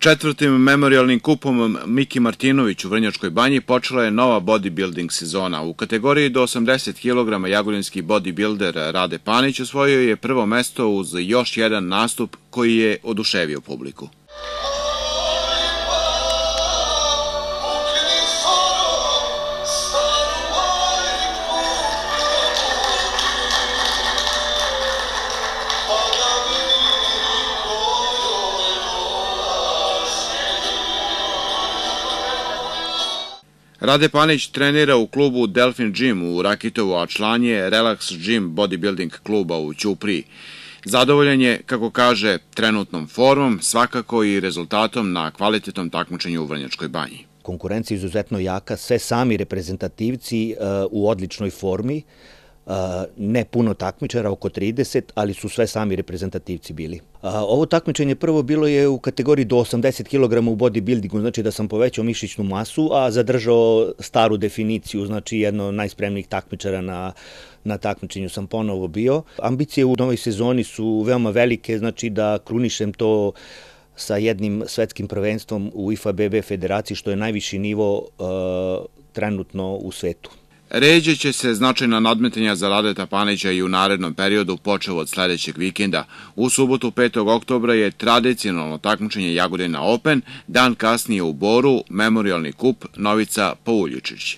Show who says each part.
Speaker 1: Četvrtim memorialnim kupom Miki Martinović u Vrnjačkoj Banji počela je nova bodybuilding sezona. U kategoriji do 80 kg jagodinski bodybuilder Rade Panić osvojio je prvo mesto uz još jedan nastup koji je oduševio publiku. Rade Panić trenira u klubu Delfin Gym u Rakitovu, a član je Relax Gym bodybuilding kluba u Ćupriji. Zadovoljan je, kako kaže, trenutnom formom, svakako i rezultatom na kvalitetnom takmičenju u Vrnjačkoj Banji.
Speaker 2: Konkurencija je izuzetno jaka, sve sami reprezentativci u odličnoj formi, ne puno takmičara, oko 30, ali su sve sami reprezentativci bili. Ovo takmičenje prvo bilo je u kategoriji do 80 kg u bodybuildingu, znači da sam povećao mišićnu masu, a zadržao staru definiciju, znači jedno od najspremnijih takmičara na takmičenju sam ponovo bio. Ambicije u novoj sezoni su veoma velike, znači da krunišem to sa jednim svetskim prvenstvom u IFBB federaciji, što je najviši nivo trenutno u svetu.
Speaker 1: Ređe će se značajna nadmetanja za Radeta Panića i u narednom periodu, počev od sledećeg vikenda. U subotu 5. oktobra je tradicionalno takmičenje Jagodina Open, dan kasnije u Boru memorialni kup Novica Pauljučić.